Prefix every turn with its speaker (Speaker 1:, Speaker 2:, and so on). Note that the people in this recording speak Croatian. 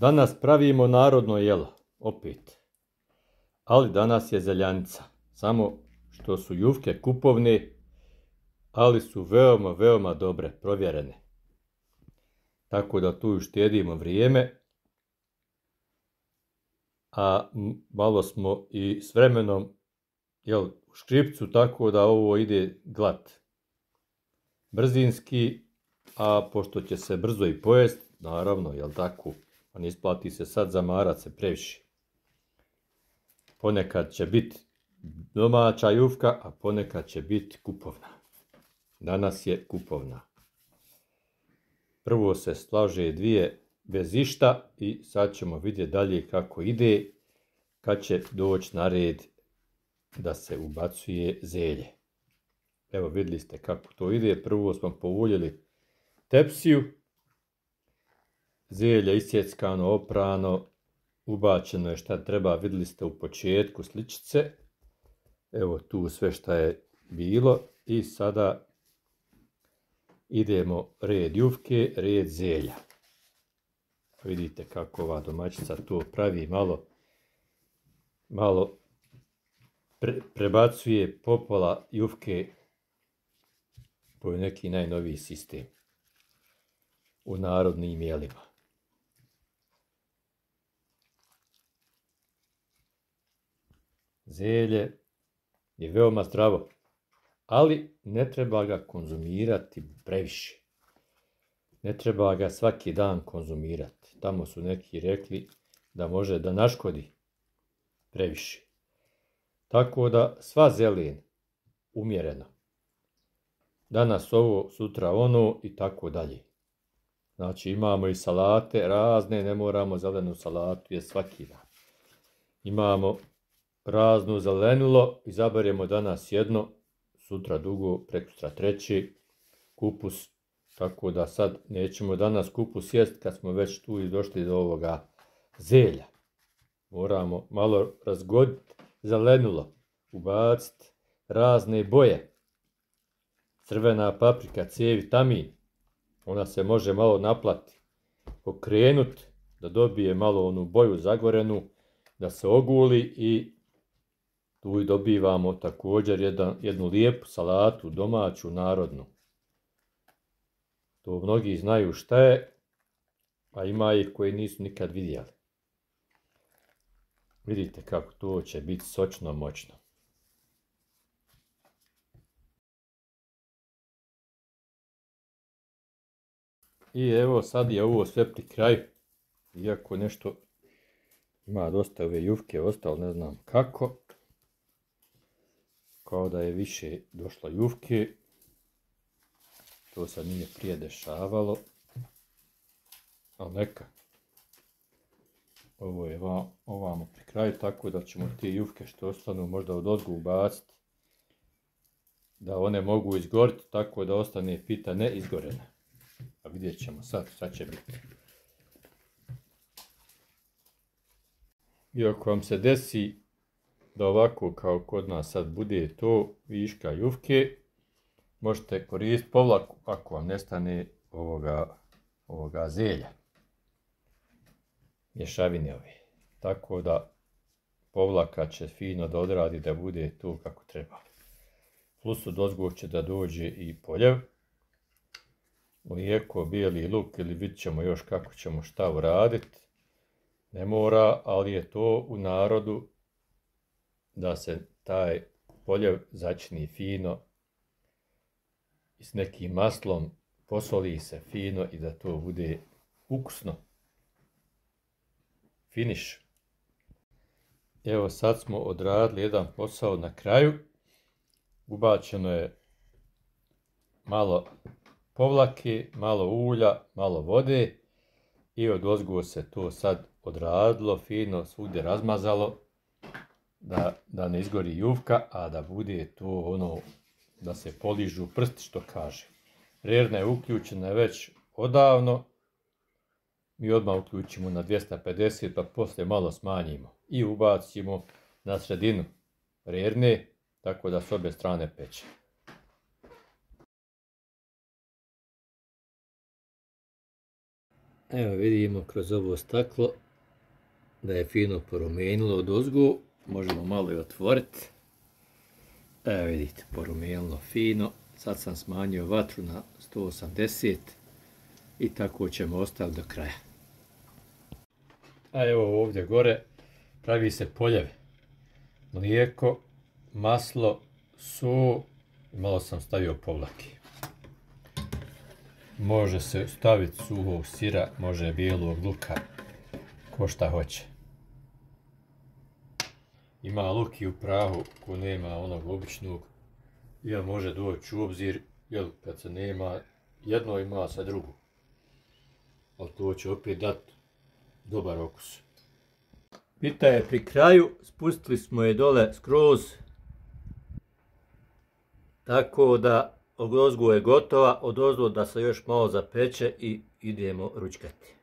Speaker 1: Danas pravimo narodno jelo, opet. Ali danas je zeljanica. Samo što su jufke kupovne, ali su veoma, veoma dobre, provjerene. Tako da tu uštedimo vrijeme, a malo smo i s vremenom u škripcu, tako da ovo ide glat. Brzinski, a pošto će se brzo i pojest, naravno, tako, pa ne isplati se sad zamarat se previše. Ponekad će biti domaća jufka, a ponekad će biti kupovna. Danas je kupovna. Prvo se slaže dvije bez išta i sad ćemo vidjeti dalje kako ide, kad će doći na red da se ubacuje zelje. Evo vidjeli ste kako to ide. Prvo smo povuljeli tepsiju, zelje isjeckano, oprano, ubačeno je šta treba, vidjeli ste u početku sličice. Evo tu sve šta je bilo i sada idemo red jufke, red zelja. Vidite kako ova domaćica to pravi, malo prebacuje popola jufke. To je neki najnoviji sistem u narodnim jelima. Zelje je veoma zdravo, ali ne treba ga konzumirati previše. Ne treba ga svaki dan konzumirati. Tamo su neki rekli da može da naškodi previše. Tako da sva zelen, umjereno. Danas ovo, sutra ono i tako dalje. Znači imamo i salate razne, ne moramo zelenu salatu jesti svaki dan. Imamo raznu zelenulo, izaberemo danas jedno, sutra drugo, prekosutra treće, kupus. Tako da sad nećemo danas kupus jesti kad smo već tu i došli do ovoga zelja. Moramo malo razgoditi zelenulo, ubaciti razne boje. Crvena paprika, C vitamin, ona se može malo naplati, okrenuti da dobije malo onu boju zagorenu, da se oguli i tu i dobivamo također jednu lijepu salatu, domaću, narodnu. To mnogi znaju šta je, a ima ih koji nisu nikad vidjeli. Vidite kako to će biti sočno, moćno. I evo sad je ovo sve pri kraju. Iako nešto ima dosta ove jufke ostalo, ne znam kako. Kao da je više došlo jufke. To sad nije prije dešavalo. Ali neka. Ovo je ovamo pri kraju, tako da ćemo te jufke što ostanu možda odozgo ubaciti. Da one mogu izgoriti, tako da ostane pita ne izgorena. A vidjet ćemo sad šta će biti. I ako vam se desi da ovako kao kod nas sad bude to viška jufke, možete koristiti povlaku ako vam nestane ovoga zelja. Mješavine ove. Tako da povlaka će fino da odradi da bude to kako treba. Plus odozgo će da dođe i poljev. Mlijeko, bijeli luk ili vidit ćemo još kako ćemo šta uraditi. Ne mora, ali je to u narodu da se taj poljev začini fino i s nekim maslom posoli se fino i da to bude ukusno. Finiš. Evo sad smo odradili jedan posao na kraju. Ubačeno je malo povlake, malo ulja, malo vode i odozgo se to sad odradilo, fino svugdje razmazalo da ne izgori jufka, a da bude to ono da se poližu prsti što kaže. Rerna je uključena već odavno, mi odmah uključimo na 250 pa poslije malo smanjimo i ubacimo na sredinu rerne tako da s obje strane peče. Evo vidimo kroz ovo staklo da je fino porumenilo odozgo. Možemo malo i otvoriti. Evo vidite, porumenilo fino. Sad sam smanjio vatru na 180 i tako ćemo ostaviti do kraja. A evo ovdje gore pravi se poljev. Mlijeko, maslo, so i malo sam stavio povlake. Može se staviti suhog sira, može bijelog luka, ko šta hoće. Ima luk i u prahu ko nema onog običnog, jer može doći u obzir, jer kad se nema jedno ima sa drugo. Ali to će opet dati dobar okus. Pita je pri kraju, spustili smo je dole skroz, tako da odozgo je gotova, odozgo da se još malo zapeče i idemo ručkati.